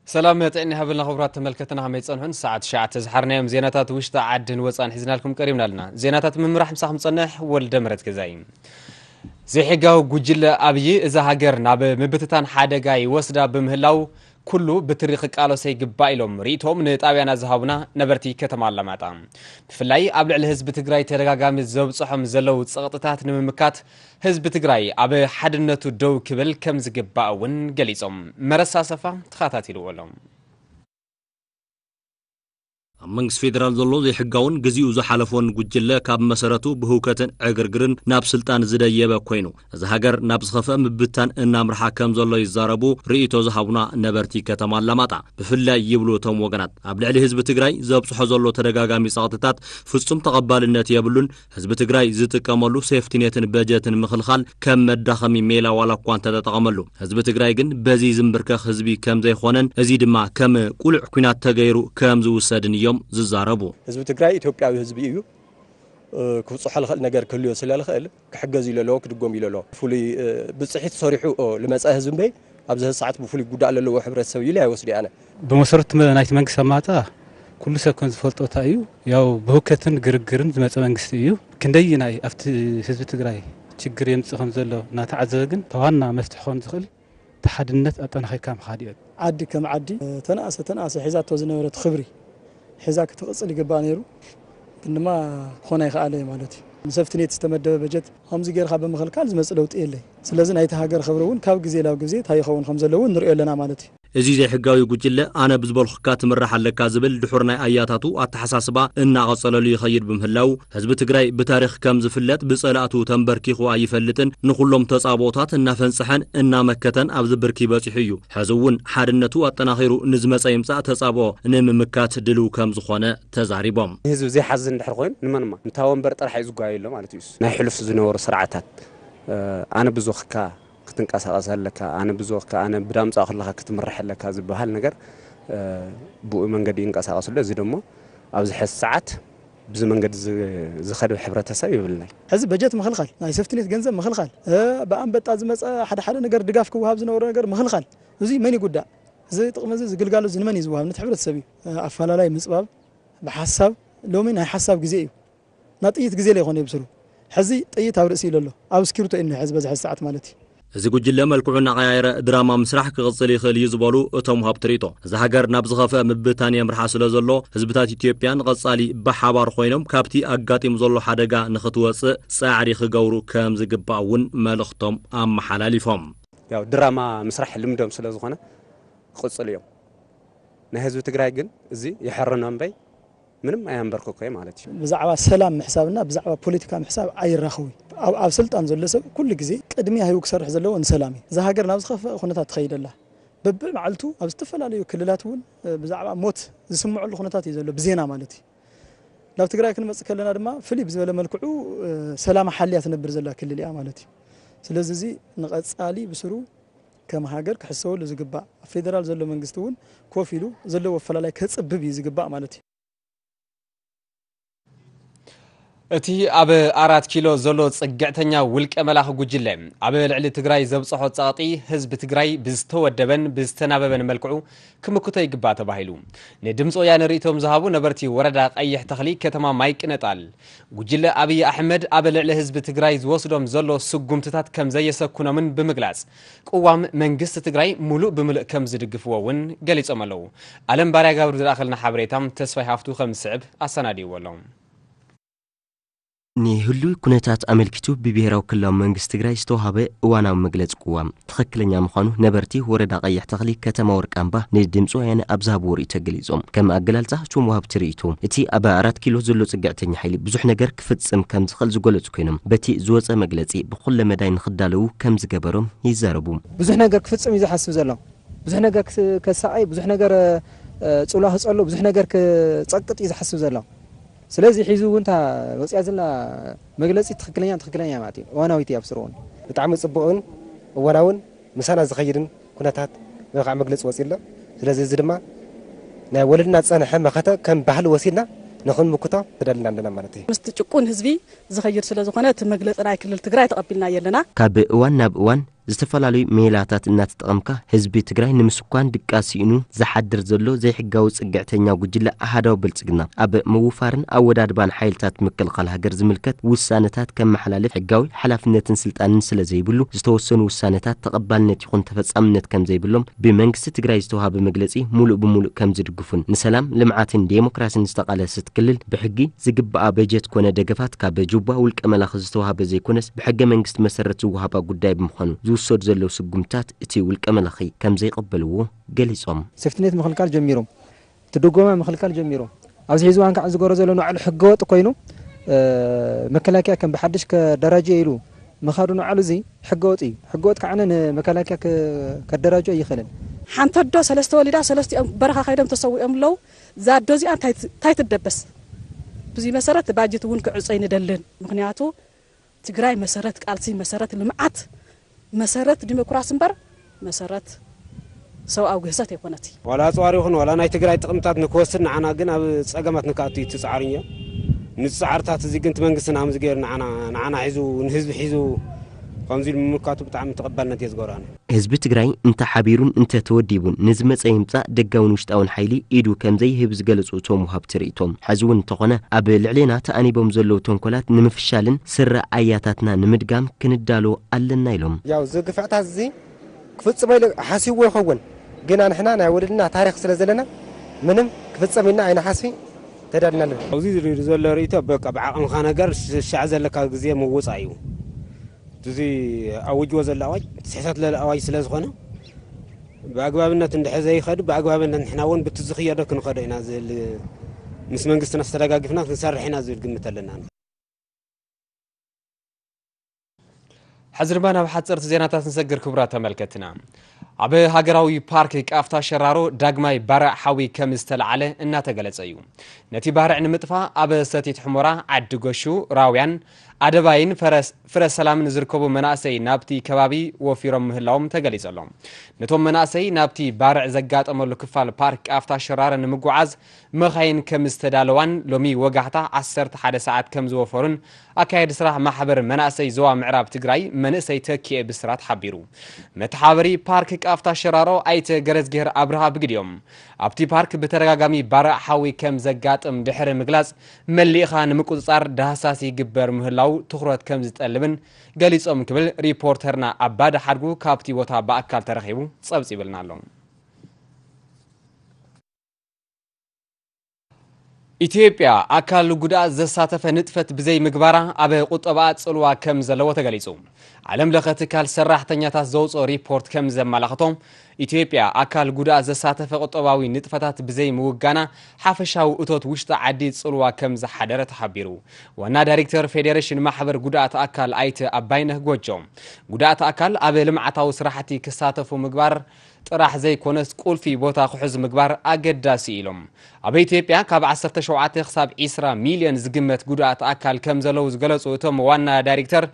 ሰላም ጥዕና ይሃበልና ክቡራት ተመልከትና፣ ከመይ ጸንሑን? ሰዓት ትሽዓተ ዝሓርናዮም ዜናታት ውሽጢ ዓድን ወጻን ሒዝናልኩም ቀሪብና ኣለና። ዜናታት ምምራሕ ምሳኹም ጸንሕ ወልደ ምረት ገዛይ። ዘይሕጋዊ ጉጅለ ኣብይ እዛ ሃገር ናብ ምብትታን ሓደጋ ይወስዳ ብምህላው ኩሉ ብትሪ ክቃለሶ ይግባእ ኢሎም ርእይቶም ንጣብያና ዝሃቡና ነበርቲ ከተማ ኣላማጣ። ብፍላይ ኣብ ልዕሊ ህዝቢ ትግራይ ተደጋጋሚ ዘብፅሖም ዘለዉ ፀቕጥታት ንምምካት ህዝቢ ትግራይ ኣብ ሓድነቱ ደው ክብል ከም ዝግባእ እውን ገሊፆም። መረሳ ሰፋ ተኸታቲልዎ ኣሎ። ኣብ መንግስቲ ፌዴራል ዘሎ ዘይሕጋውን ግዚኡ ዝሓለፎን ጉጅለ ካብ መሰረቱ ብህውከትን ዕግርግርን ናብ ስልጣን ዝደየበ ኮይኑ፣ እዚ ሃገር ናብ ዝኸፍአ ምብታን እናምርሓ ከም ዘሎ ይዛረቡ ርእይቶ ዝሃቡና ነበርቲ ከተማ ኣላማጣ። ብፍላይ ይብሉ እቶም ወገናት፣ ኣብ ልዕሊ ህዝቢ ትግራይ ዘብፅሖ ዘሎ ተደጋጋሚ ፀቕጥታት ፍጹም ተቐባልነት የብሉን። ህዝቢ ትግራይ ዝጥቀመሉ ሴፍቲኔትን በጀትን ምኽልኻል ከም መዳኸሚ ሜላ ዋላ እኳ እንተተጠቐመሉ፣ ህዝቢ ትግራይ ግን በዚ ዝምብርከኽ ህዝቢ ከም ዘይኾነን፣ እዚ ድማ ከም ቁሉዕ ኲናት ተገይሩ ከም ዝውሰድን እዮም ዝዛረቡ። ህዝቢ ትግራይ ኢትዮጵያዊ ህዝቢ እዩ። እ፣ ክብፅሖ ዝኽእል ነገር ክህልዮ ስለ ዝኽእል ክሕገዝ ኢሉ ኣለዎ፣ ክድጎም ኢሉ ኣለዎ። ፍሉይ፣ እ፣ ብፅሒት ሰሪሑ፣ ኦ፣ ልመፀ ህዝቢ እምበይ ኣብዚ ሰዓት ብፍሉይ ጉዳእ ለለዎ ሕብረተሰብ ኢሉ ኣይወስድ ኣነ። ብመሰረቱ መ-፣ ናይቲ መንግስቲ ኣማጣ ኩሉ ሰብ ከም ዝፈልጦ እንታይ እዩ፣ ያው ብህውከትን ግርግርን ዝመፀ መንግስቲ እዩ። ክንደይ ናይ ኣብቲ ህዝቢ ትግራይ ችግር የምፅእ ከም ዘሎ እናተዓዘበ ግን ተዋና መፍትሒ ክኸውን ዝኽእል እቲ ሓድነት ኣጠናኺርካ ምኻድ እዩ። ዓዲ ከም ዓዲ ተነኣሰ ተነኣሰ ሒዛቶ ዝነበረት ክብሪ ሒዛ ክትቕፅል ይግባእ ነይሩ። ግን ድማ ክኾን ኣይከኣለ ማለት እዩ። ንሰፍትኔት ዝተመደበ በጀት ከምዚ ጌርካ ብምኽልካል ዝመፅእ ለውጢ የለይ። ስለዚ ናይቲ ሃገር ክብሪ እውን ካብ ግዜ ናብ ግዜ እንታይ ይኸውን ከም ዘለዎ ንሪኦ ኣለና ማለት እዩ። እዚ ዘይሕጋዊ ጉጅለ ኣነ ብዝበልኹካ ትምራሕ ኣለካ ዝብል ድሑር ናይ ኣያታቱ ኣተሓሳስባ እናቐጸለሉ ይኸይድ ብምህላው፣ ህዝቢ ትግራይ ብታሪኽ ከም ዝፍለጥ ብጸላእቱ ተንበርኪኹ ኣይፈልጥን፣ ንኹሎም ተጻብኦታት እናፈንጸሐን እናመከተን ኣብዚ ብርኪ በጺሑ እዩ። ሕዚ እውን ሓድነቱ ኣጠናኺሩ ንዝመጸ ይምጻእ ተጻብኦ ንምምካት ድልው ከም ዝኾነ ተዛሪቦም። ህዝቢ ዘይሓዝን እንድሕር ኮይኑ ንመንማ ንታ ወንበር ጥራሕ እዩ ዝጓየሎ ማለት እዩ። ናይ ሕሉፍ ዝነበሩ ስርዓታት፣ እ፣ ኣነ ብዞኽካ ክትንቀሳቐስ ኣለካ፣ ኣነ ብዞኽካ፣ ኣነ ብዳምጻ ከለኻ ክትምራሕ ኣለካ ዝበሃል ነገር፣ እ፣ ብኡ መንገዲ ይንቀሳቐስ ኣሎ። እዚ ደሞ ኣብዚ ሕዚ ሰዓት ብዚ መንገዲ ዝ-፣ ዝኸድ ሕብረተሰብ የብልናይ። ሕዚ በጀት ምኽልኻል፣ ናይ ሰፍትኔት ገንዘብ ምኽልኻል፣ እ፣ ብኣንበጣ ዝመጸ ሓደ ሓደ ነገር ድጋፍ ክወሃብ ዝነበሮ ነገር ምኽልኻል፣ እዚ መን ይጉዳእ? እዚ ጥቕሚ እዚ፣ እዚ ግልጋሎት እዚ ንመን እዩ ዝወሃብ? ነቲ ሕብረተሰብ እዩ። እ፣ ኣፈላላይ ምጽባብ ብሓሳብ፣ ሎሚ ናይ ሓሳብ ግዜ እዩ። ናብ ጥይት ግዜ ለይኮነ ይብስሩ። ሕዚ ጥይት ኣብ ርእሲ ኢሉ ኣሎ። ኣብ እስክሪብቶ እዩ እኒሀ ሕዚ በዚ ሕዚ ሰዓት ማለት እዩ። እዚ ጉጅለ መልክዑ እናቐያየረ ድራማ ምስራሕ ክቕጽል ይኽእል እዩ ዝበሉ እቶም ወሃብቲ ርእይቶ፣ እዛ ሃገር ናብ ዝኸፍአ ምብታን የምርሓ ስለ ዘሎ፣ ህዝብታት ኢትዮጵያ ንቐጻሊ ብሓባር ኮይኖም ካብቲ ኣጋጢሙ ዘሎ ሓደጋ ንኽትወጽእ ጻዕሪ ክገብሩ ከም ዝግባእ እውን መልእኽቶም ኣመሓላሊፎም። ያው ድራማ ምስራሕ ልምዶም ስለ ዝኾነ ክቕጽሉ እዮም። ናይ ህዝቢ ትግራይ ግን እዚ ይሕርኖ እምበይ ምንም ኣየንበርክኮ ማለት እዩ። ብዛዕባ ሰላም ምሕሳብና ብዛዕባ ፖለቲካ ምሕሳብ ኣይራኸቡ። ኣብ፣ ኣብ ስልጣን ዘሎ ሰብ ኩሉ ግዜ ቅድሚያ ሂቡ ክሰርሕ ዘለዎ ንሰላም እዩ። እዛ ሃገር ናብ ዝኸፍአ ኩነታት ትኸይድ ኣላ። በብመዓልቱ ኣብ ዝተፈላለዩ ክልላት እውን፣ እ፣ ብዛዕባ ሞት ዝስምዐሉ ኩነታት እዩ ዘሎ፣ ብዜና ማለት እዩ። ናብ ትግራይ ክንመጽእ ከለና ድማ ፍልይ ብዝበለ መልክዑ፣ እ፣ ሰላማ ሓልያ ትነብር ዘላ ክልል እያ ማለት እዩ። ስለዚ እዚ ንቐጻሊ ብስሩ ከም ሃገር ክሕሰበሉ ዝግባእ፣ ኣብ ፌደራል ዘሎ መንግስቲ እውን ኮፍ ኢሉ ዘለዎ ኣፈላላይ ከጽብብ እዩ ዝግባእ ማለት እዩ። እቲ ኣብ ኣራት ኪሎ ዘሎ ጽግዕተኛ ውልቀ መላኺ ጉጅለ፣ ኣብ ልዕሊ ትግራይ ዘብጽሖ ጸቕጢ፣ ህዝቢ ትግራይ ብዝተወደበን ብዝተናበበን መልክዑ ክምክቶ ይግባእ ተባሂሉ። ንድምፂ ወያነ ርእይቶም ዝሃቡ ነበርቲ ወረዳ ቀይሕ ተኽሊ ከተማ ማይ ቅነጣል፣ ጉጅለ ኣብይ ኣሕመድ ኣብ ልዕሊ ህዝቢ ትግራይ ዝወስዶም ዘሎ ስጉምትታት ከም ዘየሰኩኖምን ብምግላጽ፣ ቅዋም መንግስቲ ትግራይ ሙሉእ ብምሉእ ከም ዝድግፍዎ እውን ገሊጾም ኣለዉ። ኣለም ባርያ ጋብር ዝለኣኸልና ሓበሬታ ተስፋይ ሃፍቱ ከም ዝስዕብ ኣሰናዲዎ ኣሎ። ንህሉው ኩነታት ኣመልኪቱ ብብሄራዊ ክልላዊ መንግስቲ ትግራይ ዝተዋሃበ እዋናዊ መግለጺ ቅዋም ትኽክለኛ ምዃኑ ነበርቲ ወረዳ ቀይሕ ተኽሊ ከተማ ወርቃምባ ንድምፂ ወያነ ኣብ ዝሃብዎ ርእይቶ ገሊጾም። ከም ኣገላልጻ እቶም ወሃብቲ ርእይቶ፣ እቲ ኣብ ኣራት ኪሎ ዘሎ ጽግዕተኛ ሓይሊ ብዙሕ ነገር ክፍጽም ከም ዝኽእል ዝገለጹ ኮይኖም፣ በቲ ዝወጸ መግለጺ ብኹለ መዳይ ንኽዳለዉ ከም ዝገበሮም ይዛረቡ። ብዙሕ ነገር ክፍጽም እዩ ዝሓስብ ዘሎ። ብዙሕ ነገር ክስ-፣ ከሳቐይ፣ ብዙሕ ነገር፣ እ፣ ጽልዋ ክጸሉ፣ ብዙሕ ነገር ክጸቅጥ እዩ ዝሓስብ ዘሎ። ስለዚ ሒዙ እውን እታ ወፂኣ ዘላ መግለፂ ትኽክለኛ፣ ትኽክለኛ ማለት እዩ። እዋናዊት እያ ብስሩ እውን። ብጣዕሚ ፅቡቕን እዋናውን ምሳና ዝኸይድን ኩነታት ወይ ከዓ መግለፂ ወፂኡ ኣሎ። ስለዚ እዚ ድማ ናይ ወለድና ዝፀንሐ መኸተ ከም ባህሊ ወሲድና ንኽንምክቶ ተዳሊና ኣለና ማለት እዩ። ምስቲ ጭቁን ህዝቢ ዝኸይድ ስለ ዝኾነ እቲ መግለፂ ናይ ክልል ትግራይ ተቐቢልናዮ ኣለና። ካብ እዋን ናብ እዋን ዝተፈላለዩ ሜላታት እናተጠቐምካ ህዝቢ ትግራይ ንምስኳን ድቃስ ስኢኑ ዝሓድር ዘሎ ዘይሕጋዊ ጽግዕተኛ ጉጅለ ኣሃዳዊ ብልጽግና ኣብ ምውፋርን ኣወዳድባን ሓይልታት ምክልኻል ሃገር ዝምልከት ውሳነታት ከመሓላልፍ ሕጋዊ ሓላፍነትን ስልጣንን ስለ ዘይብሉ ዝተወሰኑ ውሳነታት ተቐባልነት ይኹን ተፈጻምነት ከም ዘይብሎም ብመንግስቲ ትግራይ ዝተዋሃበ መግለጺ ሙሉእ ብሙሉእ ከም ዝድግፉን ንሰላም ልምዓትን ዴሞክራሲን ዝተቓለሰት ክልል ብሕጊ ዝግባኣ በጀት ኮነ ደገፋት ካብ ጁባ ውልቀ መላኺ ዝተዋሃበ ዘይኮነስ ብሕገ መንግስቲ መሰረት ዝወሃባ ጉዳይ ብምዃኑ ዝውሰዱ ዘለዉ ስጉምታት እቲ ውልቀ መላኺ ከም ዘይቐበልዎ ገሊጾም። ሴፍትኔት ምኽልካል ጀሚሮም፣ እቲ ድጎማ ምኽልካል ጀሚሮም። ኣብዚ ሕዚ እዋን ከዓ ዝገበሮ ዘሎ ንባዕሉ ሕገወጥ ኮይኑ፣ እ፣ መከላከያ ከም ብሓድሽ ከደራጀ ኢሉ ምኻዱ ንባዕሉ እዚ ሕገወጥ እዩ። ሕገወጥ ከዓ ንመከላከያ ከ-፣ ከደራጆ ኣይኽእልን። ሓንቲ ኣዶ ሰለስተ ወሊዳ ሰለስቲኦም በረኻ ከይዶም ተሰዊኦም ኣለዉ። እዛ ኣዶ እዚኣ እንታይ ት-፣ እንታይ ትደበስ? ብዙይ መሰረት ባጀት እውን ክዕጾ ኣይንደልን። ምኽንያቱ ትግራይ መሰረት ቃልሲ፣ መሰረት ልምዓት፣ መሰረት ዲሞክራሲ እምበር መሰረት ሰብኣዊ ግህሰት ኣይኮነትን። ዋላ ኣፅዋር ይኹን ዋላ ናይ ትግራይ ጥቕምታት ንክወስድ ንዓና ግን ኣብ ፀገማት ንክኣቱ እዩ ትፅዓር እዮ። ንፅዓርታት እዚ ግን እቲ መንግስትና ከምዚ ገይሩ ንዓና፣ ንዓና ሒዙ፣ ንህዝቢ ሒዙ ከምዚ ኢሉ ምምልካቱ ብጣዕሚ ተቐባልነት እየ ዝገብሮ ኣነ። ህዝቢ ትግራይ እንተ ሓቢሩን እንተ ተወዲቡን ንዝመፀ ይምፃእ ደጋውን ውሽጣውን ሓይሊ ኢዱ ከም ዘይህብ ዝገለፁ እቶም ወሃብቲ ርእይቶም፣ ሕዚ እውን እንተኾነ ኣብ ልዕሌና ተኣኒቦም ዘለዉ ተንኮላት ንምፍሻልን ስረ ኣያታትና ንምድጋም ክንዳሎ ኣለና ኢሎም። ያው እዚ ግፍዕታት እዚ ክፍፅሞ ኢሉ ሓሲብዎ ይኸውን፣ ግና ንሕና ናይ ወለድና ታሪኽ ስለ ዘለና ምንም ክፍፀም ኢልና ኣይንሓስቢ ተዳልና ኣለና። ኣብዚ ዝሪር ዘሎ ርእይቶ በቃ ብዓቕምኻ ነገር ሻዕ ዘለካ ግዜ ምውፃእ እዩ። እዚ ኣውጅዎ ዘሎ ኣዋጅ ትስሕተት ለለ ኣዋጅ ስለ ዝኾነ ብኣግባብነት እንድሕር ዘይኸዱ ብኣግባብነት ንሕና እውን ብቲ ዝኽየዶ ክንኸዶ ኢና ዝብል ምስ መንግስትና ዝተደጋግፍና ክንሰርሕ ኢና ዝብል ግምት ኣለና። ሕዚ ድማ ናብ ሓፀርቲ ዜናታት ንሰግር ክቡራት ተመልከትና። ኣብ ሃገራዊ ፓርክ ቃፍታ ሸራሮ ዳግማይ ባርዕ ሓዊ ከም ዝተለዓለ እናተገለጸ እዩ። ነቲ ባርዕ ንምጥፋእ ኣብ ሰቲት ሕሞራ፣ ዓዲ ጎሹ፣ ራውያን፣ ኣደባይን ፈረስ-፣ ፍረ ሰላምን ዝርከቡ መናእሰይ ናብቲ ከባቢ ወፊሮም ምህላዎም ተገሊጹ ኣሎ። ነቶም መናእሰይ ናብቲ ባርዕ ዘጋጠመሉ ክፋል ፓርክ ቃፍታ ሸራሮ ንምጉዓዝ መኻይን ከም ዝተዳለዋን ሎሚ ወጋሕታ ዓሰርተ ሓደ ሰዓት ከም ዝወፈሩን ኣካየዲ ስራሕ ማሕበር መናእሰይ ዞባ ምዕራብ ትግራይ መንእሰይ ተኪኤ ብስራት ሓቢሩ። መተሓባበሪ ፓርክ ቃፍታ ሸራሮ ኣይተ ገረዝግሄር ኣብርሃ ብግዲኦም ኣብቲ ፓርክ ብተደጋጋሚ ባርዕ ሓዊ ከም ዘጋጥም ድሕሪ ምግላጽ መሊእኻ ንምቁጽጻር ዳህሳስ ይግበር ምህላው ትኹረት ከም ዝጠልብን ገሊጾም ክብል ሪፖርተርና ኣባዲ ሓድጉ ካብቲ ቦታ ብኣካል ተረኺቡ ጸብጺብልና ኣሎ። ኢትዮጵያ ኣካል ጉድኣት ዘሳተፈ ንጥፈት ብዘይ ምግባራ ኣብ ቁጠባኣ ጽልዋ ከም ዘለዎ ተገሊጹ። ዓለም ለኸ ትካል ሰራሕተኛታት ዘውፅኦ ሪፖርት ከም ዘመላኽቶ፣ ኢትዮጵያ ኣካል ጉድኣት ዘሳተፈ ቁጠባዊ ንጥፈታት ብዘይ ምውጋና ሓፈሻዊ እቶት ውሽጢ ዓዲ ጽልዋ ከም ዝሓደረ ተሓቢሩ። ዋና ዳይሬክተር ፌዴሬሽን ማሕበር ጉድኣት ኣካል ኣይተ ኣባይነህ ጎጆ፣ ጉድኣት ኣካል ኣብ ልምዓታዊ ስራሕቲ ክሳተፉ ምግባር ጥራሕ ዘይኮነስ ቁልፊ ቦታ ክሕዙ ምግባር ኣገዳሲ ኢሎም። ኣብ ኢትዮጵያ ካብ ዓሰርተ ሸውዓተ ክሳብ ዒስራ ሚልዮን ዝግመት ጉድኣት ኣካል ከም ዘለዉ ዝገለጹ እቶም ዋና ዳይሬክተር፣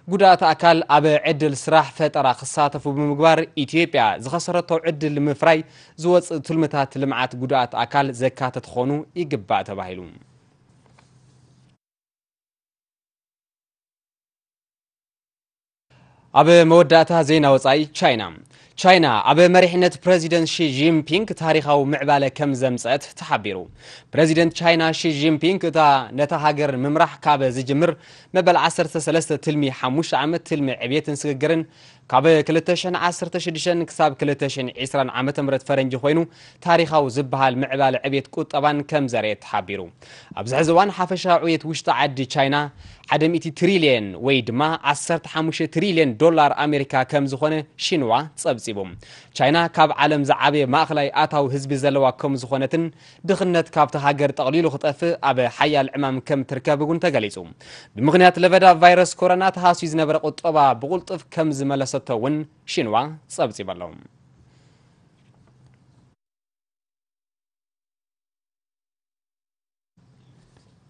ጉድኣት ኣካል ኣብ ዕድል ስራሕ ፈጠራ ክሳተፉ ብምግባር ኢትዮጵያ ዝኸሰረቶ ዕድል ንምፍራይ ዝወጽእ ትልምታት ልምዓት ጉድኣት ኣካል ዘካተት ክኾኑ ይግባእ ተባሂሉ። ኣብ መወዳእታ ዜና ወጻኢ ቻይና። ቻይና ኣብ መሪሕነት ፕረዚደንት ሺ ጂንፒንግ ታሪኻዊ ምዕባለ ከም ዘምጸት ተሓቢሩ። ፕረዚደንት ቻይና ሺ ጂንፒንግ እታ ነታ ሃገር ምምራሕ ካብ ዝጅምር መበል ዓሰርተ ሰለስተ ትልሚ ሓሙሽተ ዓመት ትልሚ ዕብየትን ስግግርን ካብ ክልተ ሽሕን ዓሰርተ ሽዱሽተን ክሳብ ክልተ ሽሕን ዕስራን ዓመተ ምህረት ፈረንጂ ኮይኑ ታሪኻዊ ዝበሃል ምዕባለ ዕብየት ቁጠባን ከም ዘርኤ ተሓቢሩ። ኣብዚ ሕዚ እዋን ሓፈሻዊ ዕብየት ውሽጢ ዓዲ ቻይና ሓደ ሚእቲ ትሪልየን ወይ ድማ ዓሰርተ ሓሙሽተ ትሪልየን ዶላር ኣሜሪካ ከም ዝኾነ ሺንዋ ጸብጺቡ። ቻይና ካብ ዓለም ዝዓበየ ማእኸላይ ኣታዊ ህዝቢ ዘለዋ ከም ዝኾነትን ድኽነት ካብቲ ሃገር ጠቕሊሉ ክጠፍእ ኣብ ሓያል ዕማም ከም ትርከብ እውን ተገሊጹ። ብምኽንያት ለበዳ ቫይረስ ኮሮና ተሃስዩ ዝነበረ ቁጠባ ብቕልጡፍ ከም ዝመለሰቶ እውን ሺንዋ ጸብጺቡ ኣሎ።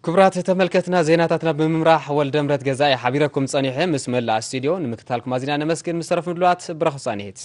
ክቡራት ተመልከትና፣ ዜናታትና ብምምራሕ ወልደምረት ገዛኢ ሓቢረኩም ጸኒሐ። ምስ መላእ ስቱድዮ ንምክትታልኩም ኣዚና ነመስግን። ምስ ተረፉ ምድላዋት ብረኹ ጻኒሒት።